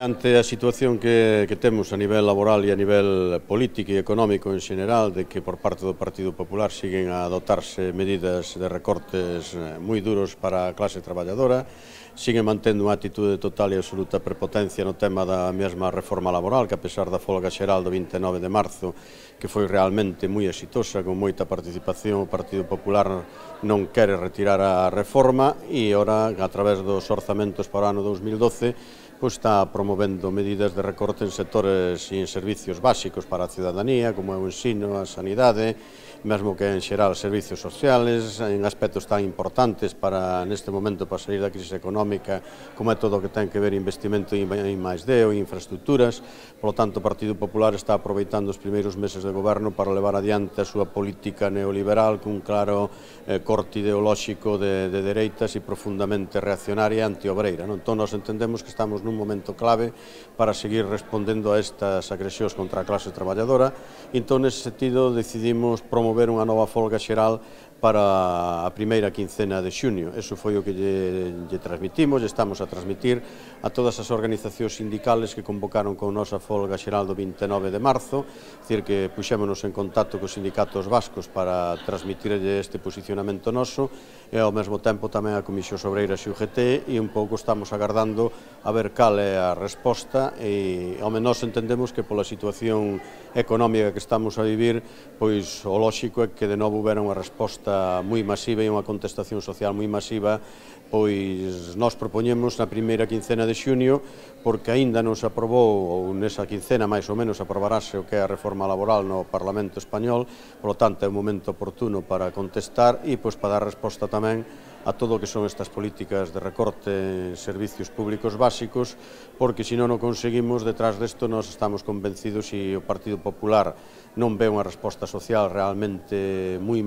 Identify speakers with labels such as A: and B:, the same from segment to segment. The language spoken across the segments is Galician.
A: Ante a situación que temos a nivel laboral e a nivel político e económico en xeral, de que por parte do Partido Popular siguen a adoptarse medidas de recortes moi duros para a clase traballadora, siguen mantendo unha actitude de total e absoluta prepotencia no tema da mesma reforma laboral, que a pesar da folga xeral do 29 de marzo, que foi realmente moi exitosa, con moita participación, o Partido Popular non quere retirar a reforma e ora, a través dos orzamentos para o ano 2012, está promovendo medidas de recorte en sectores e en servicios básicos para a ciudadanía, como é o ensino, a sanidade, mesmo que en xeral servicios sociales, en aspectos tan importantes para neste momento para salir da crise económica, como é todo o que ten que ver investimento en I+D ou en infraestructuras. Por lo tanto, o Partido Popular está aproveitando os primeiros meses de goberno para levar adiante a súa política neoliberal cun claro corte ideolóxico de dereitas e profundamente reaccionaria e antiobreira. Entón, nós entendemos que estamos nun momento clave para seguir respondendo a estas agresións contra a clase traballadora. Entón, nese sentido, decidimos promover unha nova folga xeral para a primeira quincena de xunio. Eso foi o que lle transmitimos, estamos a transmitir a todas as organizacións sindicales que convocaron con nosa folga xeral do 29 de marzo, dicir que puxémonos en contacto cos sindicatos vascos para transmitirlle este posicionamento noso e ao mesmo tempo tamén a Comisións Obreiras e UGT, e un pouco estamos agardando a ver cal é a resposta e ao menos entendemos que pola situación económica que estamos a vivir, pois o lóxico é que de novo houbera unha resposta moi masiva e unha contestación social moi masiva, pois nós propoñemos na primeira quincena de xunio, porque aínda non se aprobou, ou nesa quincena máis ou menos aprobarase o que é a reforma laboral no Parlamento Español, polo tanto é un momento oportuno para contestar e pois para dar resposta tamén a todo o que son estas políticas de recorte en servicios públicos básicos, porque se non o conseguimos, detrás desto nós estamos convencidos e o Partido Popular non ve unha resposta social realmente moi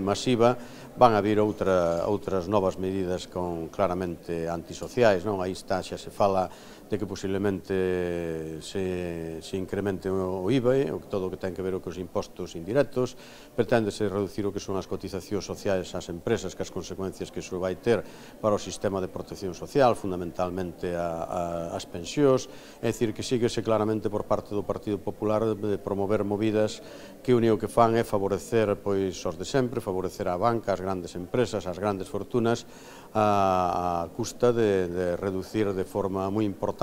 A: masiva, van a vir outras novas medidas claramente antisociais. Aí está, xa se fala de que posiblemente se incremente o IVA, todo o que ten que ver cos impostos indirectos, preténdese reducir o que son as cotizacións sociais ás empresas, que as consecuencias que iso vai ter para o sistema de protección social, fundamentalmente as pensións, é dicir, que síguese claramente por parte do Partido Popular de promover movidas que o único que fan é favorecer os de sempre, favorecer a banca, as grandes empresas, as grandes fortunas, a custa de reducir de forma moi importante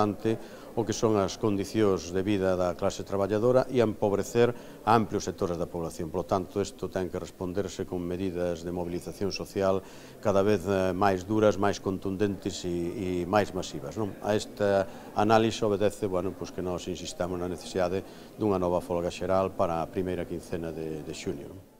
A: o que son as condicións de vida da clase traballadora e a empobrecer a amplios sectores da población. Por lo tanto, isto ten que responderse con medidas de movilización social cada vez máis duras, máis contundentes e máis masivas. A esta análise obedece que nós insistamos na necesidade dunha nova folga xeral para a primeira quincena de xunio.